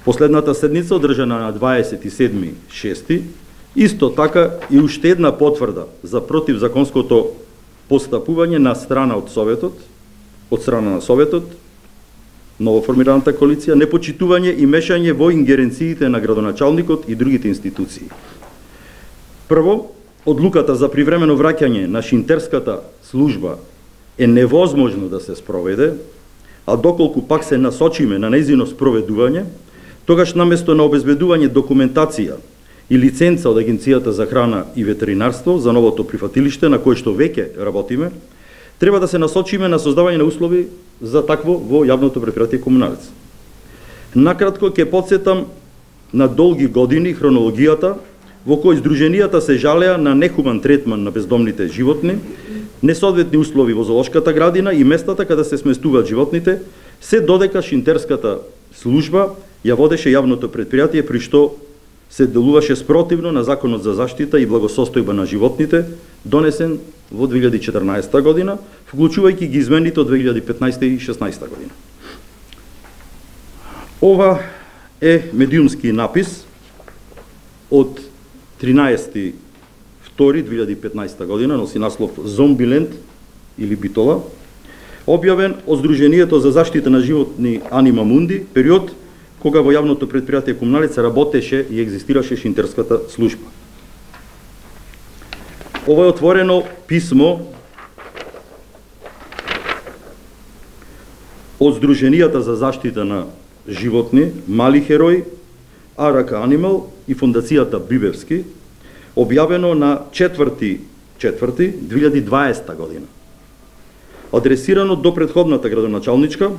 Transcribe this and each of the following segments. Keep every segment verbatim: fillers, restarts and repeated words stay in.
Последната седница, одржана на дваесет и седми шести, исто така и уште една потврда за противзаконското постапување на страна од Советот, од страна на Советот, новоформираната коалиција, непочитување и мешање во ингеренциите на градоначалникот и другите институции. Прво, одлуката за привремено враќање на шинтерската служба е невозможно да се спроведе, а доколку пак се насочиме на нејзино спроведување, тогаш наместо на обезбедување документација и лиценца од Агенцијата за храна и ветеринарство за новото прифатилиште на кое што веќе работиме, треба да се насочиме на создавање на услови за такво во јавното претпријатие Комуналец. Накратко ќе потсетам на долги години хронологијата во кој здруженијата се жалеа на нехуман третман на бездомните животни, несоодветни услови во зоолошката градина и местата каде се сместуваат животните, се додека шинтерската служба ја водеше јавното претпријатие, при што се делуваше спротивно на Законот за заштита и благосостојба на животните, донесен во две илјади и четрнаесета година, вклучувајќи ги измените од две илјади и петнаесета и шеснаесета година. Ова е медиумски напис од тринаесети втори две илјади и петнаесета година, носи наслов Зомбиленд или Битола, објавен од Здруженијето за заштита на животни Анима Мунди, период кога во јавното претпријатие Комуналец работеше и екзистираше шинтерската служба. Ова е отворено писмо од Здруженијата за заштита на животни Мали херои, Арака Анимал и Фондацијата Бибевски, објавено на четврти четврти две илјади и дваесета година. Адресирано до претходната градоначалничка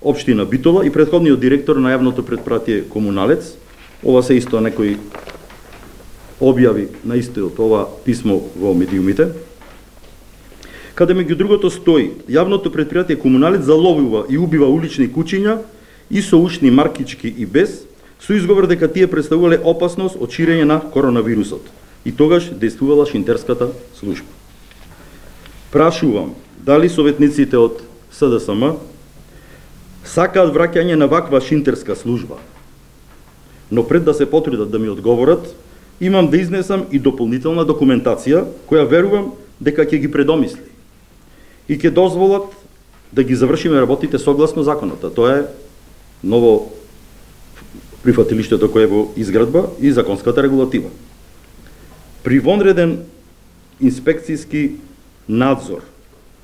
Општина Битола и претходниот директор на јавното претпријатие Комуналец. Ова се исто некои објави на истиот ова писмо во медиумите, каде меѓу другото стои: јавното претпријатие Комуналец заловува и убива улични кучиња и со ушни маркички и без, со изговор дека тие представувале опасност од ширење на коронавирусот. И тогаш действувала шинтерската служба. Прашувам, дали советниците од С Д С М сакаат враќање на ваква шинтерска служба? Но пред да се потрудат да ми одговорат, имам да изнесам и дополнителна документација, која верувам дека ќе ги предомисли и ќе дозволат да ги завршиме работите согласно законот. Тоа е ново прифатилиштето кое е во изградба и законската регулатива. При вонреден инспекцијски надзор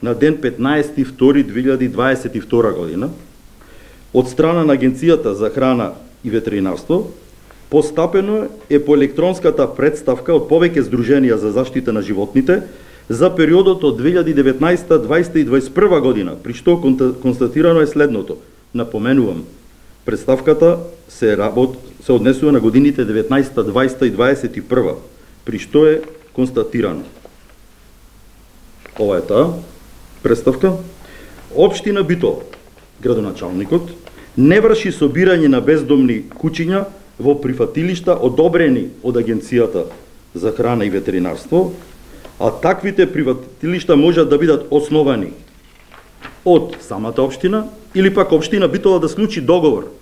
на ден петнаесети втори две илјади и дваесет и втора година од страна на Агенцијата за храна и ветеринарство, постапено е по електронската представка од повеќе здруженија за заштита на животните за периодот од две илјади и деветнаесета, дваесета и дваесет и прва година, при што констатирано е следното. Напоменувам, представката се работ се однесува на годините деветнаесета, дваесета и дваесет и прва, при што е констатирано. Ова е таа представка. Општина Битола, градоначалникот, не врши собирање на бездомни кучиња во прифатилишта одобрени од Агенцијата за храна и ветеринарство, а таквите прифатилишта можат да бидат основани од самата општина или пак општина Битола да склучи договор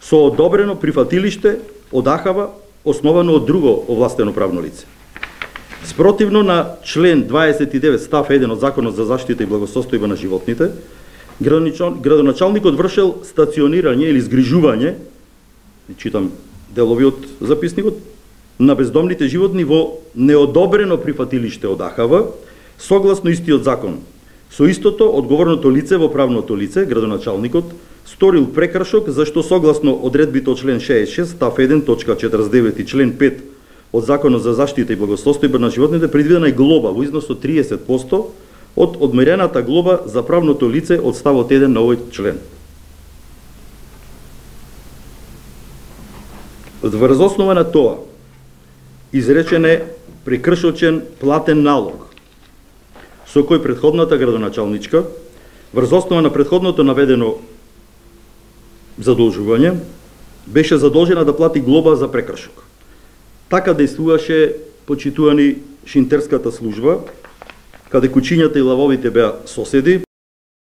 со одобрено прифатилиште од А Х В основано од друго овластено правно лице. Спротивно на член дваесет и девет став еден од Законот за заштита и благосостојба на животните, градоначалникот вршел стационирање или згрижување, читам делови од записникот, на бездомните животни во неодобрено прифатилиште од А Х В, согласно истиот закон. Со истото, одговорното лице во правното лице, градоначалникот, сторил прекршок, зашто согласно одредбите од член шеесет и шест, став еден, точка четрдесет и девет и член пет од Законот за заштита и благосостојба на животните, предвидена е глоба во износ од триесет проценти од одмерената глоба за правното лице од ставот еден на овој член. Врз основа на тоа, изречен е прекршочен платен налог, со кој претходната градоначалничка, врз основа на претходното наведено задолжување, беше задолжена да плати глоба за прекршок. Така действуваше, почитувани, шинтерската служба, каде кучињата и лавовите беа соседи,